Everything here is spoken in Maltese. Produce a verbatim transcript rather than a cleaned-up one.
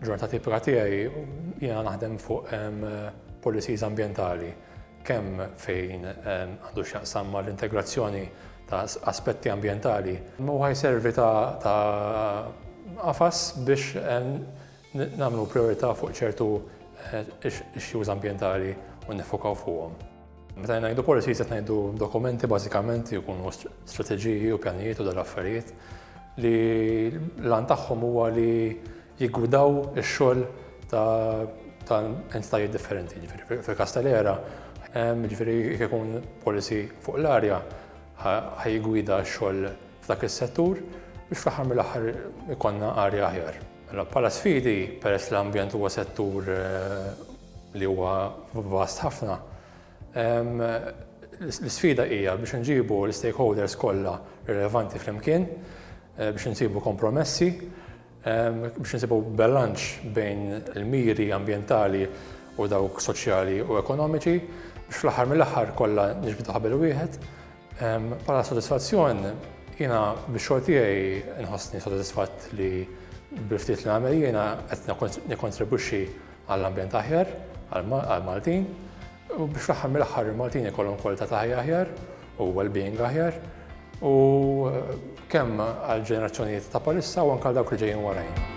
Ġurnata tipika tiegħi jiena naħdem fuq policies ambjentali, kemm fejn għandu x'jaqsam mal-integrazzjoni ta' aspetti ambjentali. U ħa jservi ta' qafas biex nagħmlu priorità fuq ċertu issues ambjentali u nifokaw fuqhom. Meta ngħidu policies, qed ngħidu dokumenti, bażikament jkunu strateġiji u pjanijiet u dal-affarijiet li l-għan tagħhom huwa li jiggwidaw ix-xogħol ta' entitajiet differenti. Ġifieri fil-każ tal-ERA, ġifieri jekk ikun policy fuq l-arja, ħa jiggwida x-xogħol f'dak is-settur biex fl-aħħar mill-aħħar ikollna arja aħjar. Mela, bħala sfidi, peress l-ambjent huwa settur li huwa vast ħafna, l-sfida hija biex nġibu l-stakeholders kollha rilevanti flimkien, biex nsibu kompromessi, biex nsibu bilanċ bejn il-miri ambjentali u dawk soċjali u ekonomiċi, biex fl-aħħar mill-aħħar kollha niġbdu ħabel wieħed. Bħala sodisfazzjon, jiena bix-xogħol tiegħi nħossni sodisfatt li bil-ftit li nagħmel jiena qed nikkontribwixxi għall-ambjent aħjar għall-Maltin u biex fl-aħħar mill-aħħar il-Maltin ikollhom kwalità ta' ħajja aħjar u well-being aħjar, u kemm għal ġenerazzjonijiet ta' bħalissa u anke għal dawk li ġejjin warajna.